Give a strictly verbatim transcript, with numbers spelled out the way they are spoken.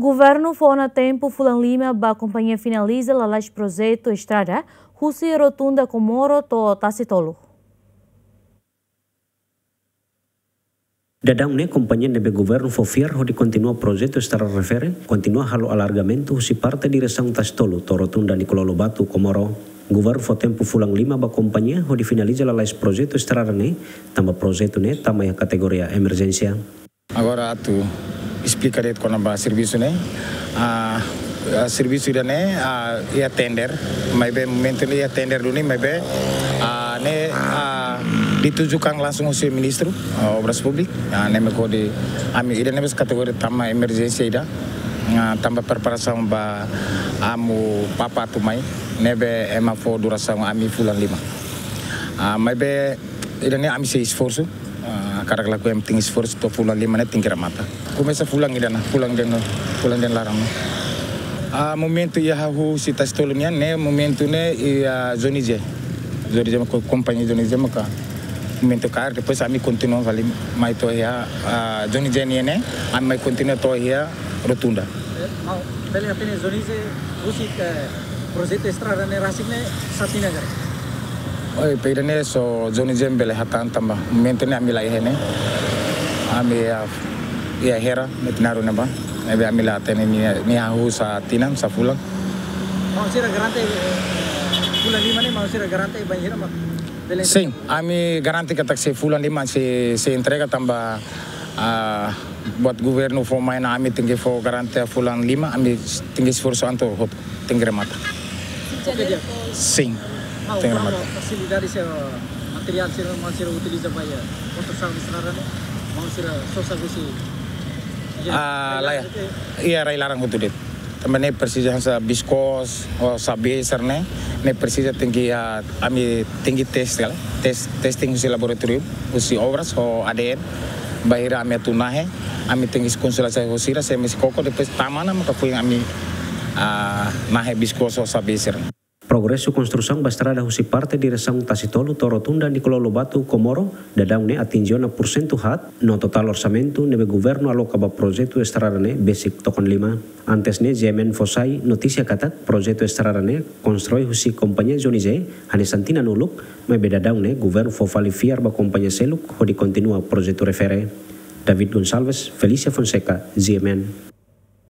Governu fó ona tempu fulan lima ba kompañia finaliza lalais projetu estrada husi Rotunda Komoro to'o Tasitolu. Daudaun ne'e kompañia ne'ebé governu fó fiar hodi kontinua projetu estrada refere, kontinua halo alargamentu husi parte diresaun Tasitolu to'o Rotunda Nicolau Lobato Komoro. Governu fó tempu fulan lima ba kompañia hodi finaliza lalais projetu estrada ne'e, tanba projetu ne'e tama iha kategoria emerjénsia. Agora atu esplika de'it kona-ba servisu ne'e. Ah, ah, servisu ida-ne'e, ah, iha tender, maibé momentu ne'e iha tender duni, maibé, ah, ne'e, ah, ditujukan langsung husi Ministru, ah, Obras Públikas. Ah, ne'e mak hodi ami ida-ne'e mós kategoria tama emerjénsia ida. Ah, tanba preparasaun ba Amu Papa atu mai, ne'ebé ema fó durasaun ami fulan lima. Ah, maibé ida-ne'e ami sei esforsu. Ah, hakarak lakohi ami tenke esforsu to'o fulan lima ne'e tenke remata. Komesa fulan ida-ne'e, fulan ida-ne'e, fulan ida-ne'e laran ne'e. Ah, momentu iha hahú husi Tasitolu nian ne'e, momentu ne'e iha Johnny J. Johnny J maka kompañia Johnny J maka momentu kaer, depois ami kontinua fali mai to'o iha, ah, Johnny J nian ne'e, ami mai kontinua to'o iha Rotunda. Eh, maun, bele hatene Johnny J husi, eh, projetu estrada ne'e rasik ne'e sá tinan agora? Oi, pe ida-ne'e só Johnny J bele hatán tanba momentu ne'e ami la iha ne'e. Ami iha, iha Hera, Metinaro ne'ebá. Ne'ebé ami la hatene nia, nia hahú sá tinan, sá fulan. Maun sira garante, eh, fulan lima ne'e maun sira garante bainhira mak bele. Sin, ami garante katak sei fulan lima sei, sei entrega tanba, ah, buat governu fó mai ona ami tenke fó garante fulan lima, ami tenke esforsu atu hotu, tenke remata. Oke, di'ak. Sin. Maun, tenke remata. Fasilidade sira, materiál sira, maun sira utiliza ba iha konstrusaun estrada ne'e, maun sira sosa husi. Ah, rai-laran, laran, oke. Iha rai-laran hotu de'it. Tanba ne'e presiza hanesan biskos, ou sabe sira-ne'e, ne'e presiza tenke, ah, ami tenke tes kala, tes, testing husi laboratóriu, husi obras, ou A D N, bainhira ami atu nahe, ami tenke konsulta husi sira, se ami sei koko, depois tama ona maka foin ami, ah, nahe biskos ou sabe sira. Progresu konstrusaun ba estrada husi parte diresaun Tasitolu to'o Rotunda Nicolau Lobato Komoro, daudaun ne'e atinje ona pursentu haat, no totál orsamentu ne'ebé governu aloka ba projetu estrada ne'e besik tokon lima. Antes ne'e, G M N fó sai notísia katak projetu estrada ne'e konstrui husi kompañia Johnny J hanesan tinan uluk, maibé daudaun ne'e governu fó fali fiar ba kompañia seluk hodi kontinua projetu refere. David Gonçalves, Felicia Fonseca, G M N.